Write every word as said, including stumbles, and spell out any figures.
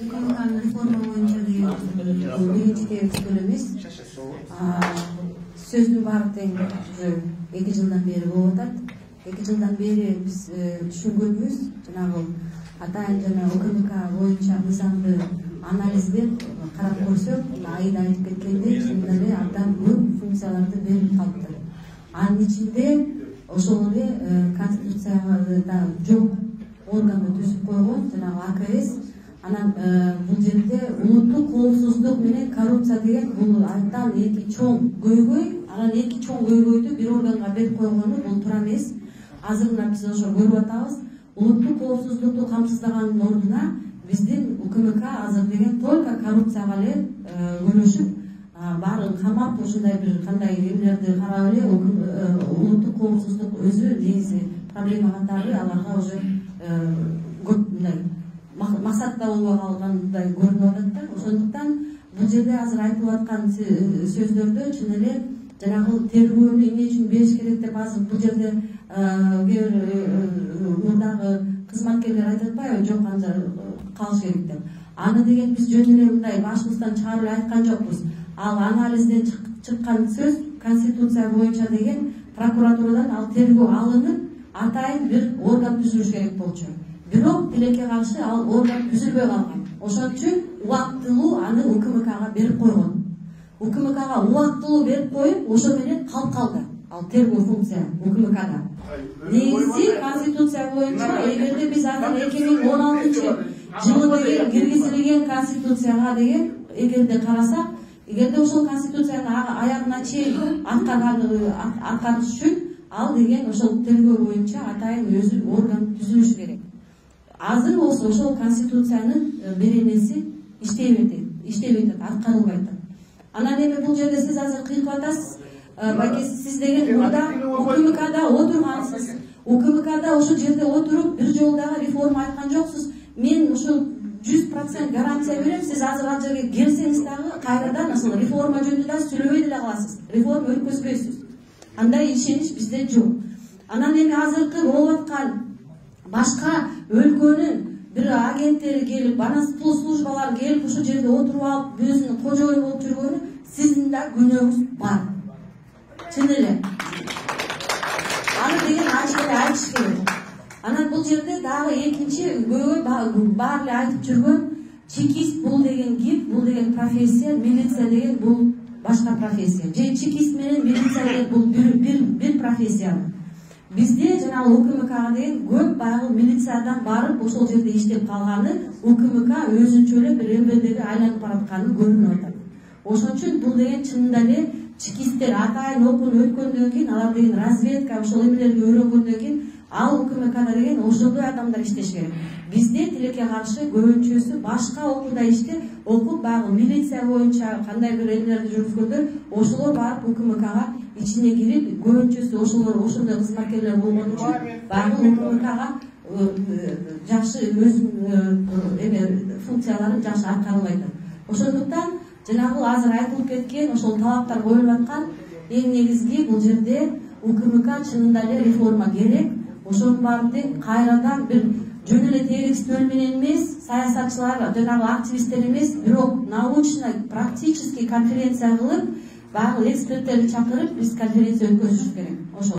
укмкнын реформа боюнча деген биринчи текстөл эмес. Сөздүн баары тең уже эки жылдан бери болуп атат. эки жылдан бери биз түшүнгөнбүз, жанагы атайын жана УКМК боюнча мыйзамды анализдеп карап көрсөк, айда айтып кеткендей, чынында эле абдан көп функцияларды берип калыптыр. Анын ичинде ошол эле конституцияда жок органды түзүп койгон жанагы А К С. Анан бул жерде улуттук коопсуздук менен коррупция деген бул абдан эки чоң көйгөй. Анан эки чоң көйгөйдү бир органга берип койгону бул туура эмес. Азыр мына биз ошо көрүп атабыз. Улуттук коопсуздукту камсыздаганын ордуна биздин УКМК азыр деген только коррупцияга эле күнөшүп, баарын камап, ушундай бир кандай эмелерди карап эле улуттук коопсуздук өзү негизи проблема катары аларга уже көп мындай максатта болбой калгандай көрүнүп атат да. Ошондуктан бул жерде азыр айтылып аткан сөздөрдө чын эле жанагы тергөөнү эмне үчүн бериш керек деп азыр бул жерде кээ бир мурдагы кызматкерлер айтып атпайбы, жок анча калыш керек деп. Аны деген биз жөн эле мындай башыбыздан чыгарып эле айткан жокпуз. Ал анализден чыккан сөз конституция боюнча деген прокуратурадан ал тергөө алынып, атайын бир орган түзүлүш керек болчу. Бирок тилекке каршы ал орган түзүлбөй калган. Ошон үчүн убактылуу аны УКМКга берип койгон. УКМКга убактылуу берип коюп, ошо менен калып калды ал тергөө функция УКМКда. Негизи конституция боюнча эгерде биз азыр эки миң он алтынчы жылы деген киргизилген конституцияга деген эгерде карасак, эгерде ошол конституцияны аягына чейин аткарыш үчүн ал деген ошол тергөө боюнча атайын өзү орган түзүлүш керек. Азыр болсо ошол конституциянын беренеси иштебей атат, иштебей атат, аткарылбай атат. Анан эми бул жерде сиз азыр кыйкып атасыз. Байке сиз деген мурда УКМКда отургансыз. УКМКда ошол жерде отуруп бир жолу дагы реформа айткан жоксуз. Мен ушул жүз процент гарантия берем, сиз азыр ал жерге келсеңиз дагы кайрадан ошол реформа жөнүндө да сүйлөбөй деле каласыз. Реформа өткөзбөйсүз. Андай ишенич бизде жок. Анан эми азыркы болуп аткан башка өлкөнүн бир агенттери келип, анан службалар келип ушул жерде отуруп алып, өзүнүн кожоюну болуп жүргөнү сиздин да күнөөңүз бар. Чын эле. Аны деген ачык эле айтыш керек. Анан бул жерде дагы экинчи көйгөй баары эле айтып жүргөн чекист бул деген ким? Бул деген профессия, милиция деген бул башка профессия. Же чекист менен милиция деген бул бир бир профессия. Бизде жанагы УКМКга деген көп баягы милициядан барып ошол жерде иштеп калганы УКМК өзүнчө эле бир эмбелдеге айланып баратканы көрүнүп атат. Ошон үчүн бул деген чынында эле чекисттер атайын окууну өткөндөн кийин, алар деген разведка ошол эмелерге үйрөнгөндөн кийин ал УКМКда деген ошондой адамдар иштеш керек. Бизде тилекке каршы көбүнчөсү башка окууда иштеп, окуп баягы милиция боюнча кандай бир эмелерди жүргүзгөндөр, ошолор барып УКМКга ичине кирип, көбүнчөсү ошолор ошондой кызматкерлер болгон үчүн баягы УКМКга жакшы өзүнүн эме функцияларын жакшы аткарылбай атат. Ошондуктан жанагы азыр айтылып кеткен ошол талаптар коюлуп аткан эң негизги бул жерде УКМК чынында эле реформа керек. Ошонун баарын тең кайрадан бир жөн эле тегистөл менен эмес, саясатчылар, жанагы активисттер эмес, бирок научно практический конференция кылып, баягы эксперттерди чакырып, биз конференция өткөзүш керек. Ошол.